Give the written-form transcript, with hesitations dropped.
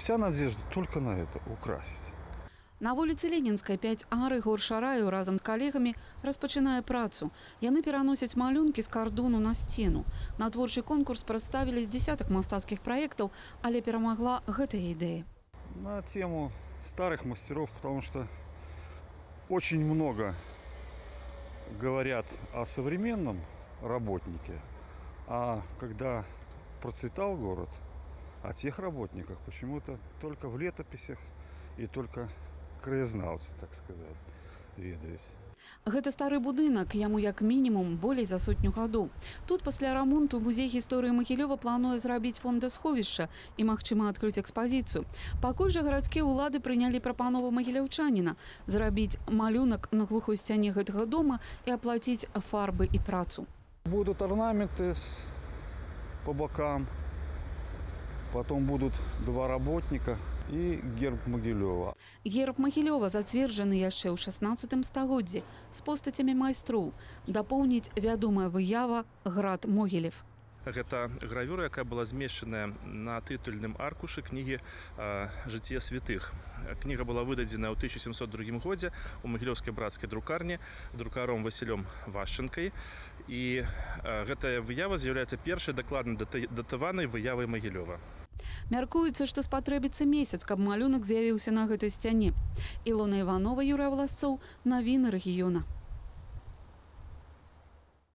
вся надежда только на это – украсить. На вуліцы Ленінскай 5А Рыгор Шараю разам з калегамі распачынае працу. Яны пераносяць малюнкі з кардону на сцену. На творчы конкурс прадставілі з десятак мастацкіх праектаў, але перамагла гэтая ідэя. На тему старых мастеров, потому что очень много говорят о современном работнике, а когда процветал город, о тех работниках почему-то только в летописях и только краязнаўцы, так сказать, ведаюць. Гэта стары будынак, яму як мінімум болей за 100 гадоў. Тут пасля рамонту музей гісторыі Магілёва плануе зрабіць фондасховішча і, магчыма, адкрыць экспазіцыю. Пакуль жа гарадскія ўлады прынялі прапанову магіляўчаніна зрабіць малюнак на глухой сцяне гэтага дома і аплаціць фарбы і працу. Будут орнаменты по бокам, потом будут 2 работника и герб Магілёва. Герб Магілёва зацверджаны яшчэ ў 16 стагоддзі з постацямі майстроў. Дапоўніць вядомая выява «Град Могілев». Гэта гравюра, якая была змешчаная на тытульным аркушы кнігі «Жыцце святых». Кніга была выдадзена ў 1702 годзе у магілёўскай брацкай друкарні друкаром Васілём Вашчанкай. І гэтая выява з'яўляецца першай дакладна датаванай выявай Магілёва. Мяркуецца, што спатрэбіцца месяц, каб малюнак з'явіўся на гэтай сцяне. Ілона Іванова, Юрыя Власцоў, навіны рэгіёна.